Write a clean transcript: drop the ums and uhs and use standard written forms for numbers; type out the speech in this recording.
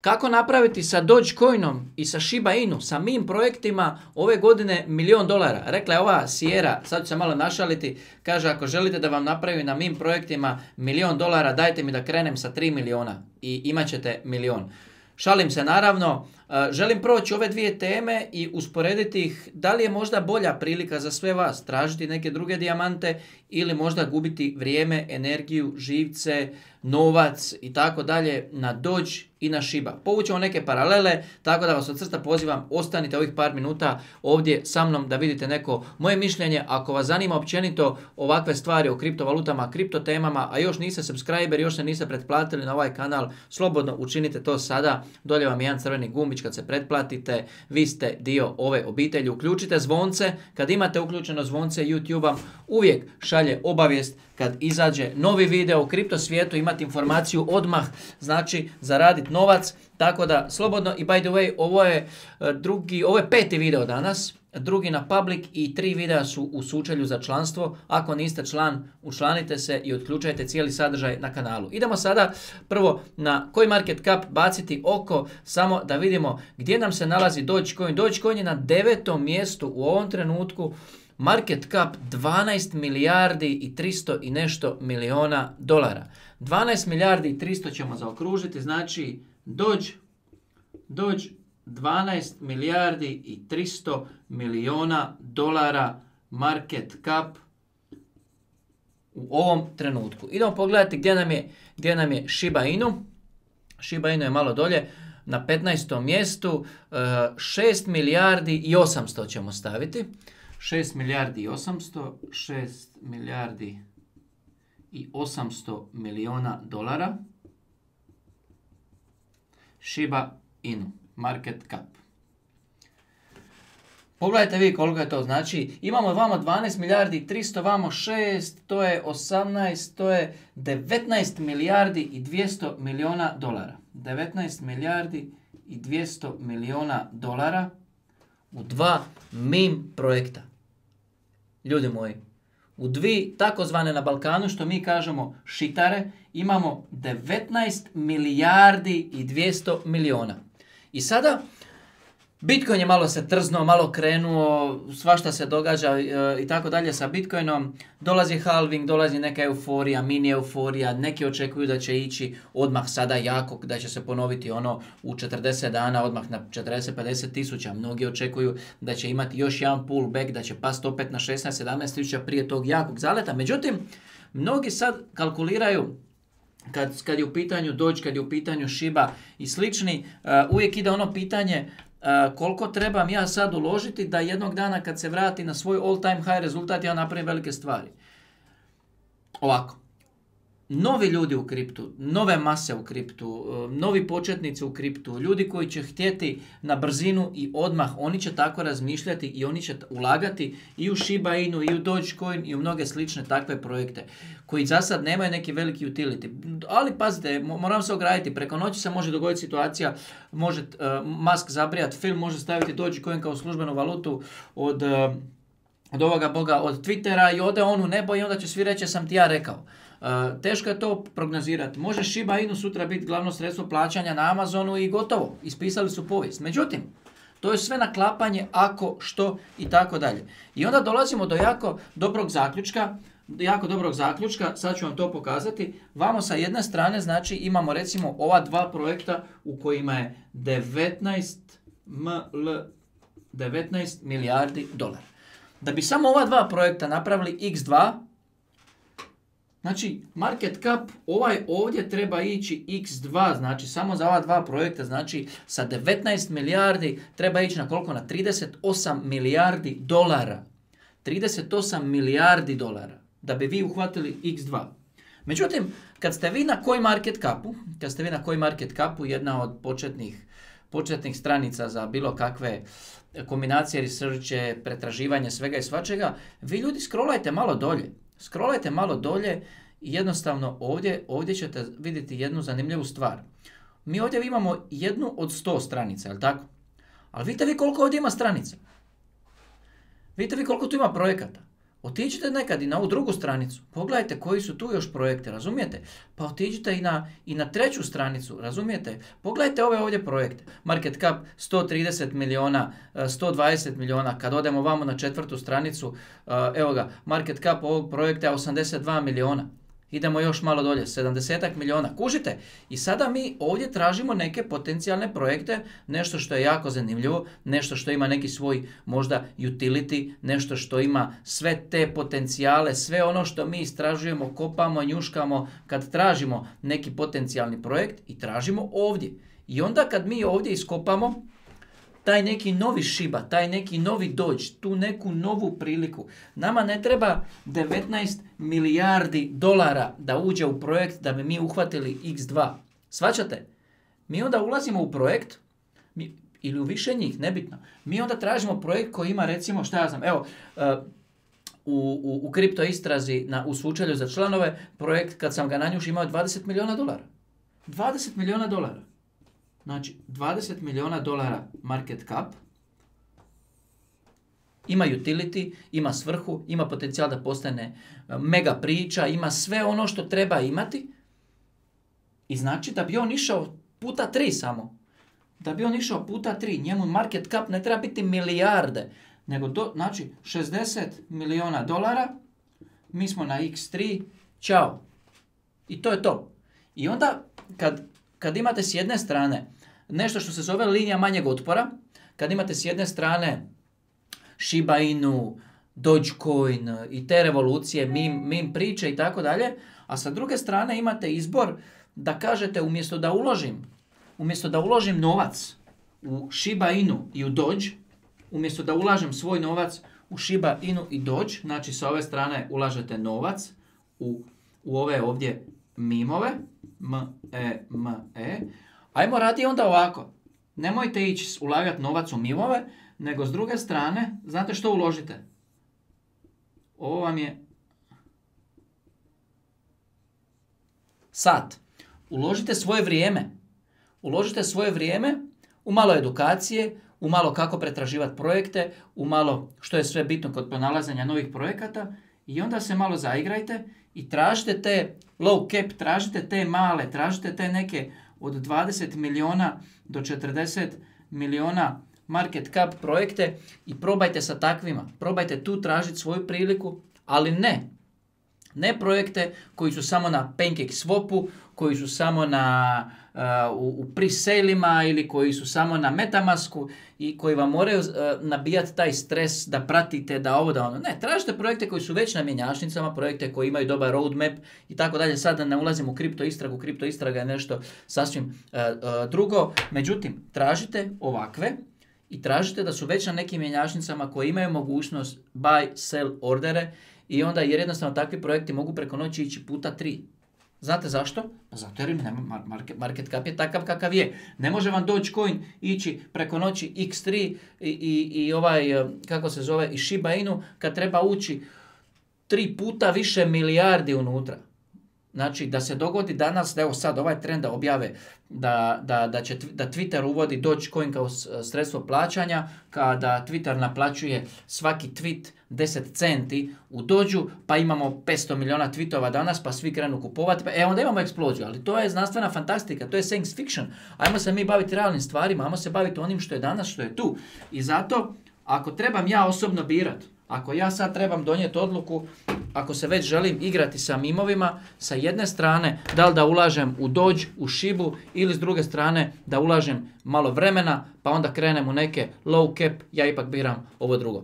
Kako napraviti sa Dogecoinom i sa Shiba Inu, sa meme projektima ove godine $1 milion? Rekla je ova Sierra, sad ću se malo našaliti, kaže ako želite da vam napravim na meme projektima $1 milion, dajte mi da krenem sa 3 miliona i imat ćete milion. Šalim se naravno, želim proći ove dvije teme i usporediti ih, da li je možda bolja prilika za sve vas tražiti neke druge dijamante ili možda gubiti vrijeme, energiju, živce, novac i tako dalje na Doge i na Shiba. Povućemo neke paralele, tako da vas od srca pozivam, ostanite ovih par minuta ovdje sa mnom da vidite neko moje mišljenje. Ako vas zanima općenito ovakve stvari o kriptovalutama, kriptotemama, a još niste subscriber, još se niste pretplatili na ovaj kanal, slobodno učinite to sada. Dolje vam je jedan crveni gumbić, kad se pretplatite, vi ste dio ove obitelji. Uključite zvonce, kad imate uključeno zvonce YouTube-a, uvijek šalje obavijest kad izađe novi video u kripto svijetu, imati informaciju odmah, znači zaraditi novac, tako da slobodno. I by the way, ovo je 5. video danas, drugi na public i 3 videa su u sučelju za članstvo. Ako niste član, učlanite se i otključajte cijeli sadržaj na kanalu. Idemo sada prvo na CoinMarketCap baciti oko, samo da vidimo gdje nam se nalazi Dogecoin. Dogecoin je na 9. mjestu u ovom trenutku, market cap 12 milijardi i 300 i nešto miliona dolara. 12 milijardi i 300 ćemo zaokružiti, znači Doge 12 milijardi i 300 miliona dolara market cap u ovom trenutku. Idemo pogledati gdje nam je Shiba Inu. Shiba Inu je malo dolje, na 15. mjestu, 6 milijardi i 800 ćemo staviti. 6 milijardi i 800, 6 milijardi i 800 miliona dolara. Shiba Inu, market cap. Pogledajte vi koliko je to, znači imamo vamo 12 milijardi i 300, vamo 6, to je 18, to je 19 milijardi i 200 miliona dolara. 19 milijardi i 200 miliona dolara u 2 meme projekta. Ljudi moji, u 2 takozvane na Balkanu, što mi kažemo šitare, imamo 19 milijardi i 200 miliona. I sada Bitcoin je malo se trznuo, malo krenuo, svašta se događa i tako dalje sa Bitcoinom. Dolazi halving, dolazi neka euforija, mini euforija, neki očekuju da će ići odmah sada jako, da će se ponoviti ono u 40 dana, odmah na 40-50 tisuća. Mnogi očekuju da će imati još jedan pullback, da će pasti opet na 16-17 tisuća prije tog jakog zaleta. Međutim, mnogi sad kalkuliraju, kad je u pitanju Doge, kad je u pitanju Shiba i slični, uvijek ide ono pitanje koliko trebam ja sad uložiti da jednog dana kad se vrati na svoj all time high rezultat ja napravim velike stvari. Ovako, novi ljudi u kriptu, nove mase u kriptu, novi početnici u kriptu, ljudi koji će htjeti na brzinu i odmah, oni će tako razmišljati i oni će ulagati i u Shiba Inu, i u Dogecoin, i u mnoge slične takve projekte koji za sad nemaju neki veliki utility. Ali pazite, moram se ograditi, preko noći se može dogoditi situacija, može Musk zabrijati film, može staviti Dogecoin kao službenu valutu od ovoga boga, od Twittera i ode on u nebo i onda će svi reći sam ti ja rekao. Teško je to prognozirati. Može Shiba Inu sutra biti glavno sredstvo plaćanja na Amazonu i gotovo. Ispisali su povijest. Međutim, to je sve naklapanje ako, što i tako dalje. I onda dolazimo do jako dobrog zaključka, sad ću vam to pokazati. Vamo sa jedne strane, znači imamo recimo ova 2 projekta u kojima je 19 milijardi dolara. Da bi samo ova 2 projekta napravili x2, znači market cap ovaj ovdje treba ići x2, znači samo za ova 2 projekta, znači sa 19 milijardi treba ići na koliko? Na 38 milijardi dolara. 38 milijardi dolara da bi vi uhvatili x2. Međutim, kad ste vi na CoinMarketCapu, jedna od početnih stranica za bilo kakve kombinacije, researche, pretraživanje svega i svačega, vi ljudi scrollajte malo dolje i jednostavno ovdje ćete vidjeti jednu zanimljivu stvar. Mi ovdje imamo jednu od 100 stranica, jel tako? Ali vidite vi koliko ovdje ima stranica. Vidite vi koliko tu ima projekata. Otiđite nekad i na ovu drugu stranicu, pogledajte koji su tu još projekte, razumijete? Pa otiđite i na treću stranicu, razumijete? Pogledajte ove ovdje projekte. Market cap 130 miliona, 120 miliona, kad odemo vamo na četvrtu stranicu, evo ga, market cap ovog projekta je 82 miliona. Idemo još malo dolje, 70 miliona. Kužite? I sada mi ovdje tražimo neke potencijalne projekte, nešto što je jako zanimljivo, nešto što ima neki svoj možda utility, nešto što ima sve te potencijale, sve ono što mi istražujemo, kopamo, njuškamo kad tražimo neki potencijalni projekt i tražimo ovdje. I onda kad mi ovdje iskopamo taj neki novi Shiba, taj neki novi Doge, tu neku novu priliku. Nama ne treba 19 milijardi dolara da uđe u projekt da bi mi uhvatili X2. Svaćate? Mi onda ulazimo u projekt, ili u više njih, nebitno. Mi onda tražimo projekt koji ima recimo, šta ja znam, evo, u kripto istrazi u slučaju za članove, projekt kad sam ga nanjušio imao 20 miliona dolara. 20 miliona dolara. Znači, 20 miliona dolara market cap, ima utility, ima svrhu, ima potencijal da postane mega priča, ima sve ono što treba imati. I znači da bi on išao puta 3 samo. Da bi on išao puta 3, njemu market cap ne treba biti milijarde, nego znači 60 miliona dolara, mi smo na X3, čao. I to je to. I onda kad imate s jedne strane nešto što se zove linija manjeg otpora, kad imate s jedne strane Shiba Inu, Dogecoin i te revolucije, meme priče i tako dalje, a sa druge strane imate izbor da kažete umjesto da uložim novac u Shiba Inu i u Doge, umjesto da ulažem svoj novac u Shiba Inu i Doge, znači sa ove strane ulažete novac u ove ovdje mimove, ajmo radi onda ovako. Nemojte ići ulagati novac u mimove, nego s druge strane, znate što uložite? Ovo vam je sat. Uložite svoje vrijeme. Uložite svoje vrijeme u malo edukacije, u malo kako pretraživati projekte, u malo što je sve bitno kod pronalaženja novih projekata i onda se malo zaigrajte i tražite te low cap, tražite te male, tražite te neke od 20 miliona do 40 miliona market cap projekte i probajte sa takvima. Probajte tu tražiti svoju priliku, ali ne projekte koji su samo na PancakeSwapu, koji su samo u pre-saleima ili koji su samo na Metamasku i koji vam moraju nabijati taj stres da pratite, da ovo, da ono. Ne, tražite projekte koji su već na mjenjačnicama, projekte koji imaju dobar roadmap i tako dalje. Sad da ne ulazim u kripto istragu, kripto istraga je nešto sasvim drugo. Međutim, tražite ovakve i tražite da su već na nekim mjenjačnicama koji imaju mogućnost buy, sell ordere i onda jer jednostavno takvi projekti mogu preko noći ići puta 3. Znate zašto? Pa zato jer market cap je takav kakav je. Ne može vam Dogecoin ići preko noći X3 i kako se zove, i Shiba Inu kad treba ući 3 puta više milijardi unutra. Znači da se dogodi danas, evo sad ovaj trend da objave da Twitter uvodi Dogecoin kao sredstvo plaćanja, kada Twitter naplaćuje svaki tweet 10 centi u Dođu, pa imamo 500 miliona tweetova danas, pa svi krenu kupovati, pa onda imamo eksploziju, ali to je znanstvena fantastika, to je science fiction. Ajmo se mi baviti realnim stvarima, ajmo se baviti onim što je danas, što je tu. I zato, ako trebam ja osobno birat, ako ja sad trebam donijeti odluku, ako se već želim igrati sa mimovima, sa jedne strane da li da ulažem u Doge, u Shibu ili s druge strane da ulažem malo vremena pa onda krenem u neke low cap, ja ipak biram ovo drugo.